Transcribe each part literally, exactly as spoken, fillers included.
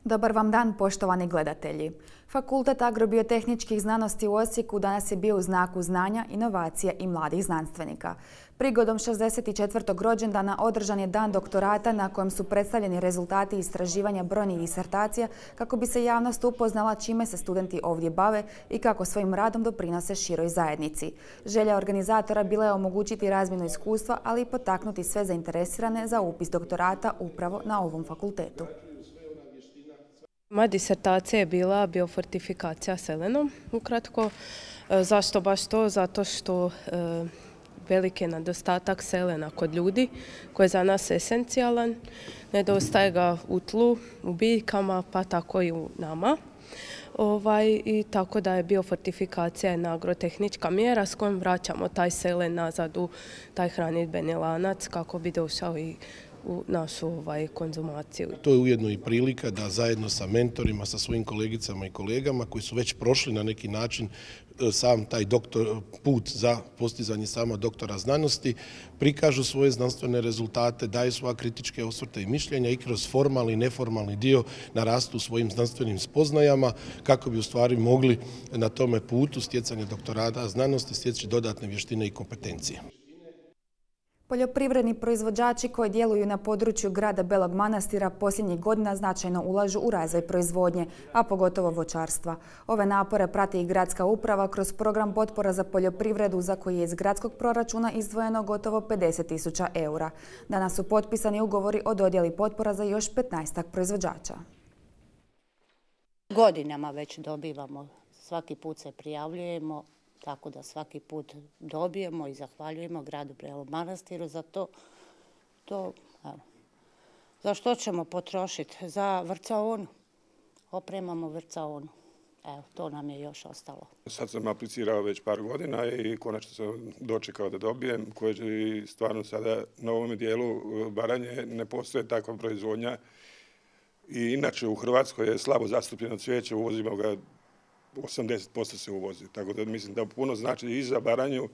Dobar vam dan, poštovani gledatelji. Fakultet agrobiotehničkih znanosti u Osijeku danas je bio u znaku znanja, inovacija i mladih znanstvenika. Prigodom šezdeset četvrtog rođendana održan je dan doktorata na kojem su predstavljeni rezultati istraživanja brojnih disertacija kako bi se javnost upoznala čime se studenti ovdje bave i kako svojim radom doprinose široj zajednici. Želja organizatora bila je omogućiti razmjenu iskustva, ali i potaknuti sve zainteresirane za upis doktorata upravo na ovom fakultetu. Moja disertacija je bila biofortifikacija selenom, ukratko. Zašto baš to? Zato što e, veliki je nedostatak selena kod ljudi, koji je za nas esencijalan. Nedostaje ga u tlu, u biljkama, pa tako i u nama. Ovaj, i tako da je biofortifikacija jedna agrotehnička mjera s kojom vraćamo taj selen nazad u taj hranidbeni lanac kako bi došao i u našu ovaj, konzumaciju. To je ujedno i prilika da zajedno sa mentorima, sa svojim kolegicama i kolegama koji su već prošli na neki način sam taj doktor, put za postizanje sama doktora znanosti, prikažu svoje znanstvene rezultate, daju svoja kritičke osvrte i mišljenja i kroz formalni i neformalni dio narastu svojim znanstvenim spoznajama kako bi u stvari mogli na tome putu stjecanja doktorata znanosti stječi dodatne vještine i kompetencije. Poljoprivredni proizvođači koji djeluju na području grada Belog Manastira posljednjih godina značajno ulažu u razvoj proizvodnje, a pogotovo voćarstva. Ove napore prati i gradska uprava kroz program potpora za poljoprivredu za koji je iz gradskog proračuna izdvojeno gotovo pedeset tisuća eura. Danas su potpisani ugovori o dodjeli potpora za još petnaestak proizvođača. Godinama već dobivamo, svaki put se prijavljujemo, tako da svaki put dobijemo i zahvaljujemo gradu Belom Manastiru za to. to evo. Za što ćemo potrošiti? Za vrcaonu. Opremamo vrcaonu. Evo, to nam je još ostalo. Sad sam aplicirao već par godina i konačno sam dočekao da dobijem, koji stvarno sada na ovom dijelu Baranje ne postoje takva proizvodnja. I inače u Hrvatskoj je slabo zastupljeno cvijeće, uvozimo ga osamdeset posto se uvozi, tako da mislim da puno znači i za Baranju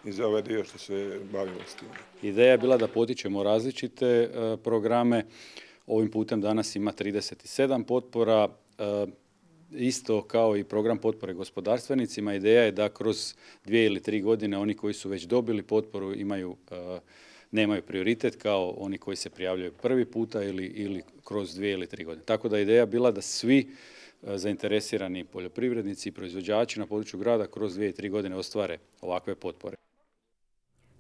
i za ovaj dio što se bavimo s tim. Ideja je bila da potičemo različite e, programe. Ovim putem danas ima trideset sedam potpora, e, isto kao i program potpore gospodarstvenicima. Ideja je da kroz dvije ili tri godine oni koji su već dobili potporu imaju e, nemaju prioritet kao oni koji se prijavljaju prvi puta ili, ili kroz dvije ili tri godine. Tako da je ideja bila da svi zainteresirani poljoprivrednici i proizvođači na području grada kroz dvije i tri godine ostvare ovakve potpore.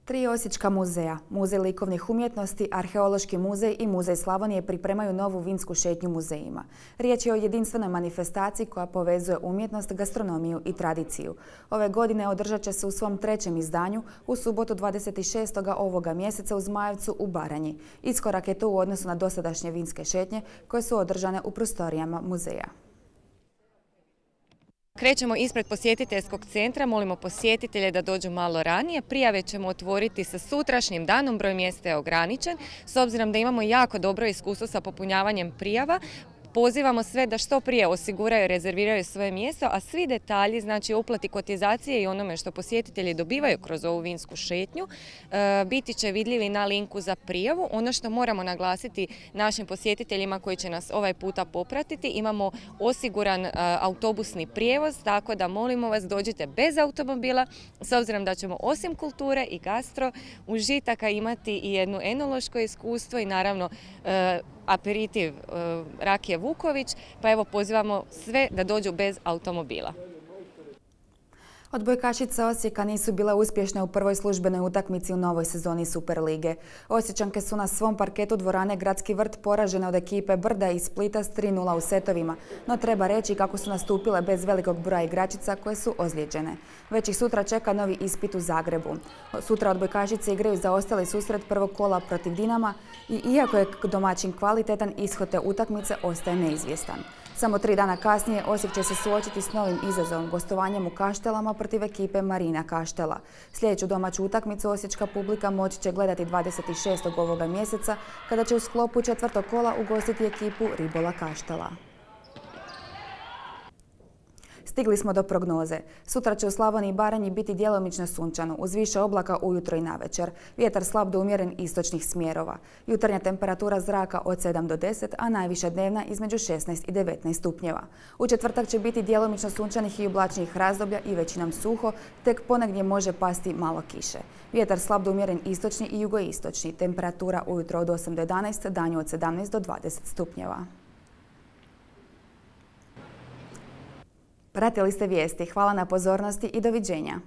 Tri osječka muzeja, Muzej likovnih umjetnosti, Arheološki muzej i Muzej Slavonije pripremaju novu vinsku šetnju muzejima. Riječ je o jedinstvenoj manifestaciji koja povezuje umjetnost, gastronomiju i tradiciju. Ove godine održat će se u svom trećem izdanju u subotu dvadeset šestog ovoga mjeseca u Zmajevcu u Baranji. Iskorak je to u odnosu na dosadašnje vinske šetnje koje su održane u prostorijama muzeja. Krećemo ispred posjetiteljskog centra, molimo posjetitelje da dođu malo ranije. Prijave ćemo otvoriti sa sutrašnjim danom, broj mjesta je ograničen. S obzirom da imamo jako dobro iskustvo sa popunjavanjem prijava, pozivamo sve da što prije osiguraju i rezerviraju svoje mjesto, a svi detalji, znači uplati kotizacije i onome što posjetitelji dobivaju kroz ovu vinsku šetnju, biti će vidljivi na linku za prijavu. Ono što moramo naglasiti našim posjetiteljima koji će nas ovaj puta popratiti, imamo osiguran autobusni prijevoz, tako da molimo vas dođite bez automobila, s obzirom da ćemo osim kulture i gastro užitaka imati i jedno enološko iskustvo i naravno aperitiv rakije Vuković, pa evo pozivamo sve da dođu bez automobila. Odbojkašice Osijeka nisu bile uspješne u prvoj službenoj utakmici u novoj sezoni Superlige. Osječanke su na svom parketu dvorane Gradski vrt poražene od ekipe Brda iz Splita s tri nula u setovima, no treba reći kako su nastupile bez velikog broja igračica koje su ozlijeđene. Već ih sutra čeka novi ispit u Zagrebu. Sutra odbojkašice igraju za ostali susret prvog kola protiv Dinama i iako je domaćin kvalitetan, ishod te utakmice ostaje neizvjestan. Samo tri dana kasnije Osijek će se suočiti s novim izazovom, gostovanjem u Kaštelama protiv ekipe Marina Kaštela. Sljedeću domaću utakmicu osječka publika moći će gledati dvadeset šestog ovoga mjeseca kada će u sklopu četvrtog kola ugostiti ekipu Ribola Kaštela. Stigli smo do prognoze. Sutra će u Slavoniji i Baranji biti djelomično sunčano, uz više oblaka ujutro i navečer. Vjetar slab do umjeren istočnih smjerova. Jutarnja temperatura zraka od sedam do deset, a najviša dnevna između šesnaest i devetnaest stupnjeva. U četvrtak će biti djelomično sunčanih i oblačnih razdoblja i većinom suho, tek ponegdje može pasti malo kiše. Vjetar slab do umjeren istočni i jugoistočni. Temperatura ujutro od osam do jedanaest, danju od sedamnaest do dvadeset stupnjeva. Pratili ste vijesti. Hvala na pozornosti i doviđenja.